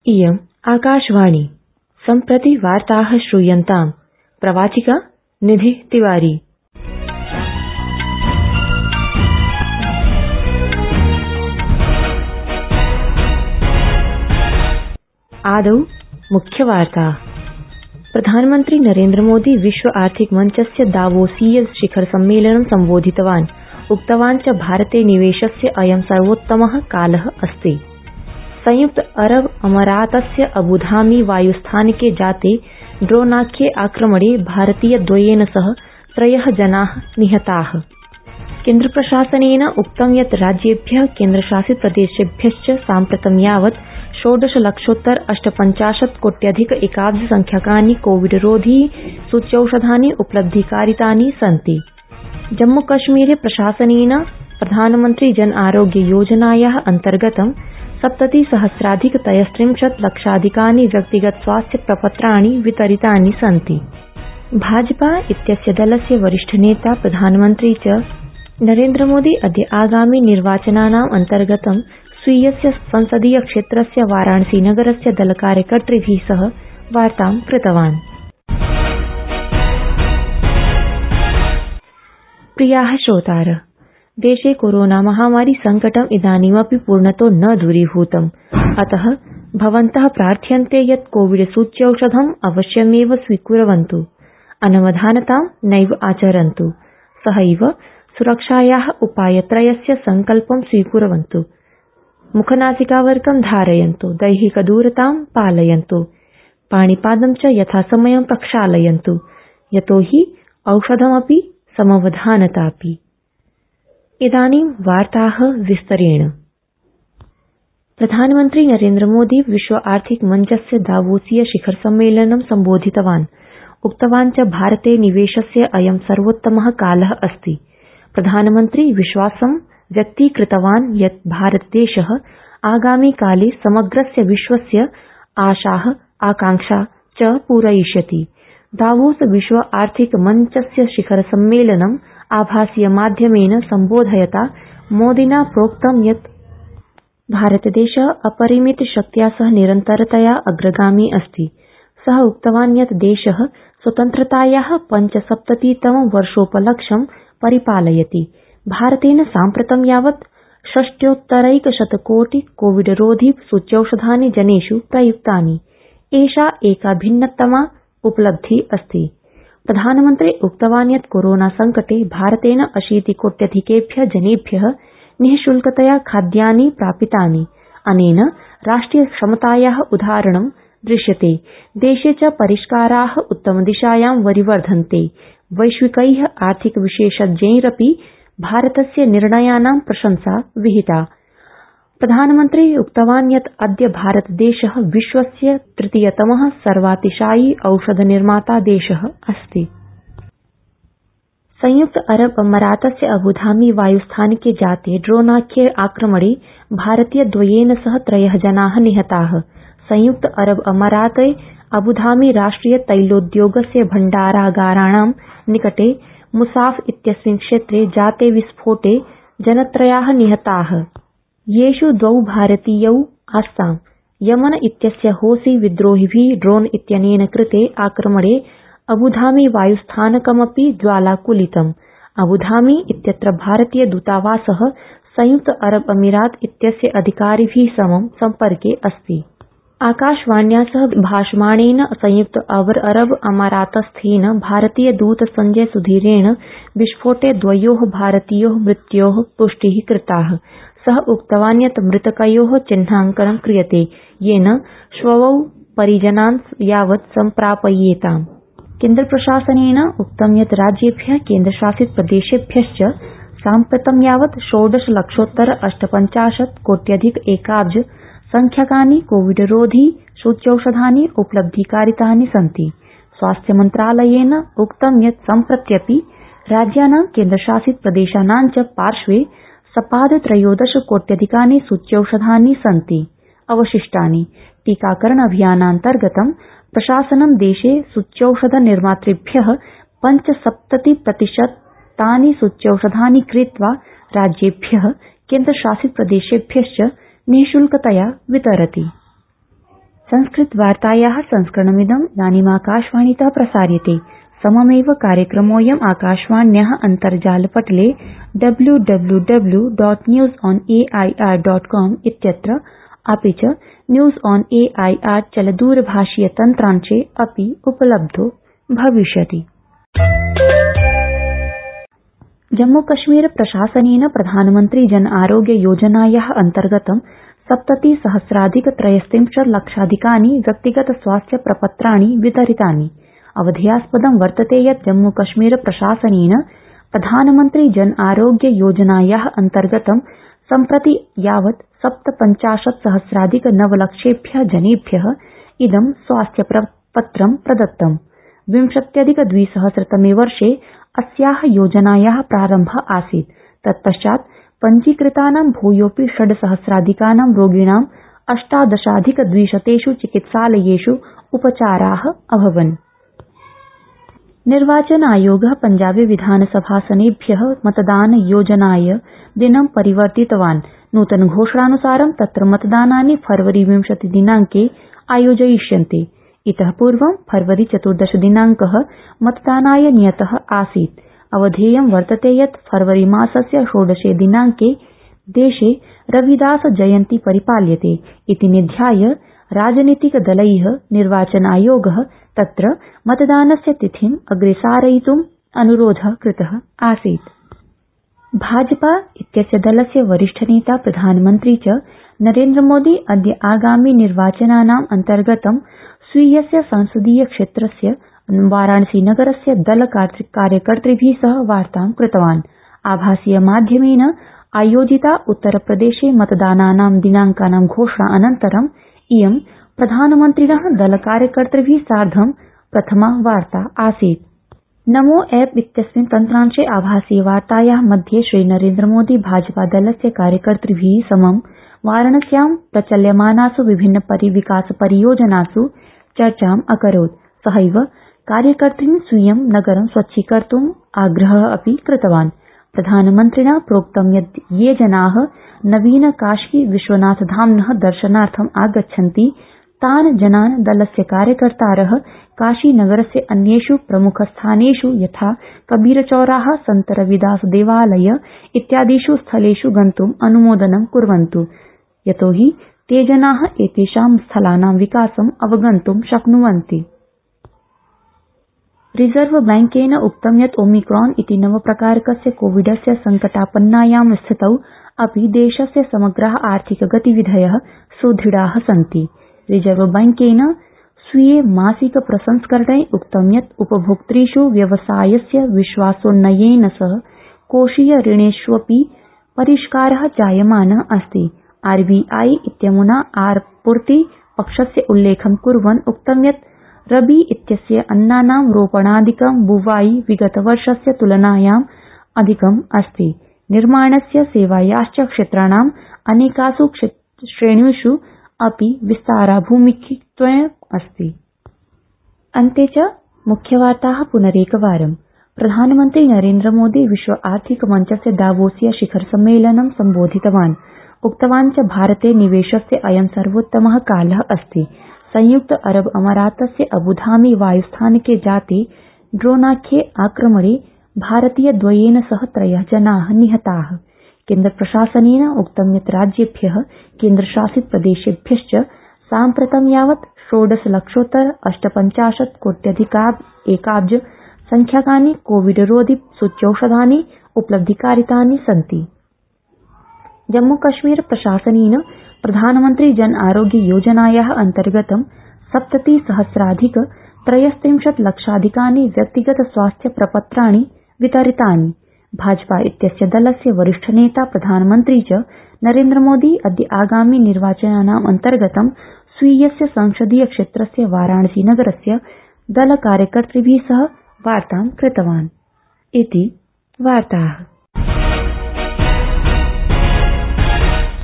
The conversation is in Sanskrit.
इयम् आकाशवाणी। सम्प्रति वार्ताः श्रूयन्ताम्। प्रवाचिका निधि तिवारी। आदौ मुख्यवार्ताः। प्रधानमन्त्री नरेन्द्र मोदी विश्व आर्थिक मंचस्य दावोसीय शिखर सम्मेलनं सम्बोधितवान्। उक्तवान् च भारते निवेशस्य अयं सर्वोत्तमः कालः अस्ति। संयुक्त अरब अमारातस्य अबुधाबी वायुस्थानके जाते ड्रोनाख्ये आक्रमणे भारतीयद्वयेन सह 3 जनाः निहताः। केन्द्रप्रशासनेन उक्तं यत् राज्येभ्यः केन्द्रशासित प्रदेशेभ्यश्च साम्प्रतं यावत् 16,48,00,000 कोट्यधिक एकाब्ज संख्याकानि कोविडरोधी सूच्यौषधानि उपलब्धीकारितानि सन्ति। जम्मूकश्मीरे प्रशासनेन प्रधानमन्त्री जन आरोग्य योजनायाः अन्तर्गतं 70,000,000 लक्षाधिकानि व्यक्तिगत स्वास्थ्य प्रपत्राणि वितरितानि सन्ति। भाजपा इत्यस्य दलस्य वरिष्ठनेता प्रधानमन्त्री च नरेन्द्र मोदी अद्य आगामि निर्वाचनानाम् अन्तर्गतं स्वीयस्य संसदीय क्षेत्रस्य वाराणसी नगरस्य दलकार्यकर्तृभिः सह वार्तां कृतवान्। प्रियाः श्रोतारः, देशे कोरोना महामारी संकटम् इदानीमपि पूर्णतो न दूरीभूतम्। अतः भवन्तः प्रार्थ्यन्ते यत् कोविड सूच्यौषधम् अवश्यमेव स्वीकुर्वन्तु, अनवधानतां नैव आचरन्तु। सहैव सुरक्षायाः उपायत्रयस्य संकल्पं स्वीकुर्वन्तु। मुखनासिकावरकं धारयन्तु, दैहिकदूरतां पालयन्तु, पाणिपादं च यथासमयं प्रक्षालयन्तु, यतोहि औषधमपि समवधानतापि। इदानीं वार्ताः विस्तरेण। प्रधानमन्त्री नरेन्द्र मोदी विश्व आर्थिक मंचस्य दावोसीय शिखर सम्मेलनं सम्बोधितवान्। उक्तवान् च भारते निवेशस्य अयं सर्वोत्तमः कालः अस्ति। प्रधानमन्त्री विश्वासं व्यक्तीकृतवान् यत् भारतदेशः आगामि काले समग्रस्य विश्वस्य आशाः आकांक्षा च पूरयिष्यति। दावोस विश्व आर्थिक मंचस्य शिखर सम्मेलनं आभासीय माध्यमेन सम्बोधयता मोदिना प्रोक्तं यत् भारतदेशः अपरिमित शक्त्या सह निरन्तरतया अग्रगामी अस्ति। सः उक्तवान् यत् देशः स्वतन्त्रतायाः 75तमं वर्षोपलक्ष्यं परिपालयति। भारतेन साम्प्रतं यावत् 6,100,कोटि कोविडरोधी सूच्यौषधानि जनेषु प्रयुक्तानि। एषा एका भिन्नतमा उपलब्धिः अस्ति। प्रधानमन्त्री उक्तवान् यत् कोरोना संकटे भारतेन 80 कोट्यधिकेभ्यः जनेभ्यः निःशुल्कतया खाद्यानि प्रापितानि। अनेन राष्ट्रिय क्षमतायाः उदाहरणं दृश्यते। देशे च परिष्काराः उत्तमदिशायां वरिवर्धन्ते। वैश्विकैः आर्थिक विशेषज्ञैरपि भारतस्य निर्णयानां प्रशंसा विहिता। प्रधानमन्त्री उक्तवान् यत् अद्य भारतदेशः विश्वस्य 3यतमः सर्वातिशायी औषध निर्माता देशः अस्ति। संयुक्त अरब अमारातस्य अबुधाबी वायुस्थानके जाते ड्रोनाख्ये आक्रमणे भारतीयद्वयेन सह 3 जनाः निहताः। संयुक्त अरब अमाराते अबुधाबी राष्ट्रिय तैलोद्योगस्य भण्डारागाराणां निकटे मुसाफ इत्यस्मिन् क्षेत्रे जाते विस्फोटे जनत्रयाः निहताः, येषु 2 भारतीयौ आस्ताम्। यमन इत्यस्य हौसी विद्रोहिभिः ड्रोन इत्यनेन कृते आक्रमणे अबुधाबी वायुस्थानकमपि ज्वालाकुलितम्। अबुधाबी इत्यत्र भारतीय दूतावासः संयुक्त अरब अमीरात इत्यस्य अधिकारिभिः समं सम्पर्के अस्ति। आकाशवाण्या सह भाषमाणेन संयुक्त अरब अमारातस्थेन भारतीय दूत संजय सुधीरेण विस्फोटे 2 भारतीयोः मृत्योः पुष्टिः कृताः। सः उक्तवान् यत् मृतकयोः चिह्नाङ्कनं क्रियते, येन शवौ परिजनान् यावत् सम्प्रापयेताम्। केन्द्रप्रशासनेन उक्तं यत् राज्येभ्यः केन्द्रशासित प्रदेशेभ्यश्च साम्प्रतं यावत् 16,48,00,000 कोट्यधिक एकाब्ज संख्याकानि कोविडरोधी सूच्यौषधानि उपलब्धीकारितानि सन्ति। स्वास्थ्य मन्त्रालयेन उक्तं यत् सम्प्रत्यपि राज्यानां केन्द्रशासित प्रदेशानां च पार्श्वे सपाद 13 सूच्यौषधानि सन्ति। अवशिष्टानि टीकाकरण अभियानान्तर्गतं प्रशासनं देशे सूच्यौषध निर्मातृभ्यः 75% सूच्यौषधानि क्रीत्वा राज्येभ्यः केन्द्रशासित प्रदेशेभ्यश्च निःशुल्कतया वितरति। संस्कृतवार्तायाः संस्करणमिदं इदानीमाकाशवाणीतः प्रसार्यते। सममेव कार्यक्रमोऽयम् आकाशवाण्याः अन्तर्जालपटले www.newsonair.com इत्यत्र अपि च न्यूज ऑन एआईआर चलदूरभाषीय तन्त्रांशे अपि उपलब्धो भविष्यति। जम्मूकश्मीर प्रशासनेन प्रधानमन्त्री जन आरोग्य योजनायाः अन्तर्गतं 70,000,000-330,00,000 व्यक्तिगत स्वास्थ्य प्रपत्राणि वितरितानि। अवधेयास्पदं वर्तते यत् जम्मूकश्मीर प्रशासनेन प्रधानमन्त्री जन आरोग्य योजनायाः अन्तर्गतं सम्प्रति यावत् 57,000,000-9,00,000 जनेभ्यः इदं स्वास्थ्य प्रपत्रं प्रदत्तम्। 20,200 वर्षे अस्याः योजनायाः प्रारम्भः आसीत्। तत्पश्चात् पञ्जीकृतानां भूयोऽपि 6,000,000 रोगिणां 18,200 चिकित्सालयेषु उपचाराः अभवन्। निर्वाचन आयोगः पंजाबे विधानसभासनेभ्यः मतदानयोजनाय दिनं परिवर्तितवान्। नूतन घोषणानुसारं तत्र मतदानानि फरवरी 20 दिनांके आयोजयिष्यन्ते। इतः पूर्वं फरवरी 14 दिनांकः मतदानाय नियतः आसीत्। अवधेयं वर्तते यत् फरवरी मासस्य 16 दिनांके देशे रविदास जयन्ती परिपाल्यते इति निध्याय राजनीतिकदलैः निर्वाचन आयोगः तत्र मतदानस्य तिथिम् अग्रेसारयितुम् अनुरोधः कृतः आसीत्। भाजपा इत्यस्य दलस्य वरिष्ठनेता प्रधानमन्त्री च नरेन्द्रमोदी अद्य आगामि निर्वाचनानाम् अन्तर्गतं स्वीयस्य संसदीय क्षेत्रस्य वाराणसी नगरस्य दल कार्यकर्तृभिः सह वार्तां कृतवान्। आभासीय माध्यमेन आयोजिता उत्तरप्रदेशे मतदानानां दिनांकानां घोषणा अनन्तरं इयं प्रधानमन्त्रिणः दल कार्यकर्तृभिः सार्धं प्रथमा वार्ता आसीत्। नमो ऐप इत्यस्मिन् तन्त्रांशे आभासीय वार्तायाः मध्ये श्रीनरेन्द्रमोदी भाजपादलस्य कार्यकर्तृभिः समं वाराणस्यां प्रचल्यमानासु विभिन्न विकास परियोजनासु चर्चाम् अकरोत्। सहैव कार्यकर्तृन् स्वीयं नगरं स्वच्छीकर्तुम् आग्रहः अपि कृतवान्। प्रधानमन्त्रिणा प्रोक्तं यत् ये जनाः नवीन काशी विश्वनाथ धाम्नः दर्शनार्थम् आगच्छन्ति तान् जनान् दलस्य कार्यकर्तारः काशीनगरस्य अन्येषु प्रमुखस्थानेषु यथा कबीरचौराः सन्त रविदास देवालय इत्यादिषु स्थलेषु गन्तुम् अनुमोदनं कुर्वन्तु यतोहि ते जनाः एतेषां स्थलानां विकासम् अवगन्तुं शक्नुवन्ति। रिजर्व बैंकेन उक्तं यत् ओमिक्रॉन इति नवप्रकारकस्य कोविडस्य संकटापन्नायां स्थितौ अपि देशस्य समग्राः आर्थिक गतिविधयः सुदृढाः सन्ति। रिजर्व बैंकेन स्वीये मासिक प्रसंस्करणे उक्तं यत् उपभोक्तृषु व्यवसायस्य विश्वासोन्नयनेन सह कोषीय ऋणेष्वपि परिष्कारः जायमानः अस्ति। आरबीआई इत्यमुना आपूर्ति पक्षस्य उल्लेखं कुर्वन् उक्तं यत् रबी इत्यस्य अन्नानां रोपणादिकं बुवाई विगतवर्षस्य तुलनायाम् अधिकम् अस्ति। निर्माणस्य सेवायाश्च क्षेत्राणाम् अनेकासु श्रेणीषु अपि विस्ताराभिमुखीत्वम् अस्ति। अन्ते च मुख्यवार्ताः पुनरेकवारम्। प्रधानमन्त्री नरेन्द्रमोदी विश्व आर्थिक मञ्चस्य दावोसीय शिखर सम्मेलनं सम्बोधितवान्। उक्तवान् च भारते निवेशस्य अयं सर्वोत्तमः कालः अस्ति। संयुक्त अरब अमारातस्य अबुधाबी वायुस्थानके जाते ड्रोनाख्ये आक्रमणे भारतीयद्वयेन सह 3 जनाः निहताः। केन्द्रप्रशासनेन उक्तं यत् राज्येभ्यः केन्द्रशासित प्रदेशेभ्यश्च साम्प्रतं यावत् 16,48 कोट्यधिक1 संख्याकानि कोविडरोधि सूच्यौषधानि उपलब्धीकारितानि सन्ति। जम्मूकश्मीर प्रशासनेन प्रधानमन्त्री जन आरोग्य योजनायाः अन्तर्गतं 70,000,000-330,00,000 व्यक्तिगत स्वास्थ्य प्रपत्राणि वितरितानि। भाजपा इत्यस्य दलस्य वरिष्ठनेता प्रधानमन्त्री च नरेन्द्रमोदी अद्य आगामि निर्वाचनानाम् अन्तर्गतं स्वीयस्य संसदीय क्षेत्रस्य वाराणसी नगरस्य दल कार्यकर्तृभिः सह वार्तां कृतवान्। इति वार्ताः।